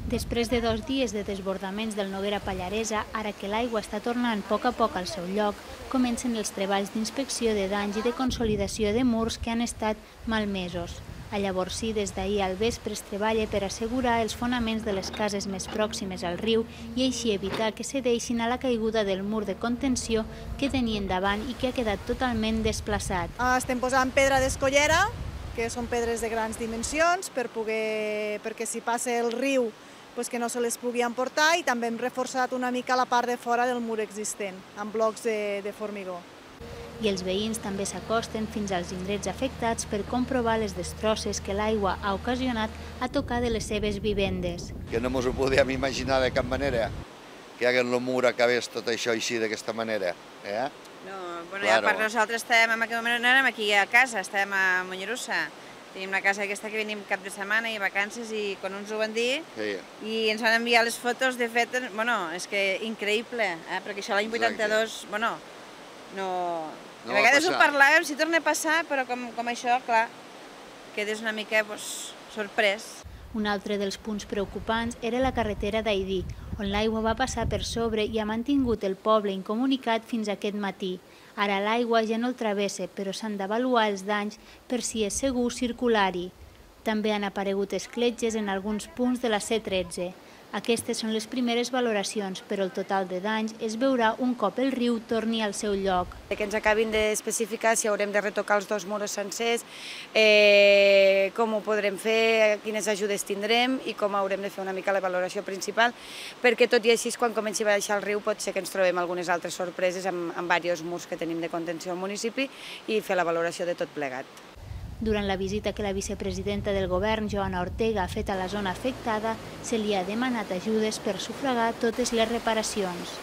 Després de 2 dies de desbordaments del Noguera Pallaresa, ara que l'aigua està tornant a poc al seu lloc, comencen els treballs d'inspecció de danys i de consolidació de murs que han estat malmesos. A llavors sí, des d'ahir al vespre es treballa per assegurar els fonaments de les cases més pròximes al riu i així evitar que cedeixin a la caiguda del mur de contenció que tenien davant i que ha quedat totalment desplaçat. Estem posant pedra d'escollera, que són pedres de grans dimensions, perquè si passa el riu que no se les pugui emportar, i també hem reforçat una mica la part de fora del mur existent, amb blocs de formigó. I els veïns també s'acosten fins als indrets afectats per comprovar les destrosses que l'aigua ha ocasionat a tocar de les seves vivendes. Que no ens ho podíem imaginar de cap manera, que hagués el mur acabés tot això així d'aquesta manera. No, a part nosaltres estàvem en aquell moment, no érem aquí a casa, estàvem a Mollerussa. Tenim una casa aquesta que venim cap de setmana i vacances i quan ens ho van dir i ens van enviar les fotos, de fet, és que increïble, perquè això l'any 82, a vegades ho parlàvem, si torna a passar, però com això, clar, quedes una mica sorprès. Un altre dels punts preocupants era la carretera d'Aidí, on l'aigua va passar per sobre i ha mantingut el poble incomunicat fins aquest matí. Ara l'aigua ja no el travessa, però s'han d'avaluar els danys per si és segur circular-hi. També han aparegut escletxes en alguns punts de la C13. Aquestes són les primeres valoracions, però el total de danys es veurà un cop el riu torni al seu lloc. Que ens acabin d'especificar si haurem de retocar els 2 murs sencers, com ho podrem fer, quines ajudes tindrem i com haurem de fer una mica la valoració principal, perquè tot i així, quan comenci a baixar el riu, pot ser que ens trobem algunes altres sorpreses amb diversos murs que tenim de contenció al municipi i fer la valoració de tot plegat. Durant la visita que la vicepresidenta del govern, Joana Ortega, ha fet a la zona afectada, se li ha demanat ajudes per sufragar totes les reparacions.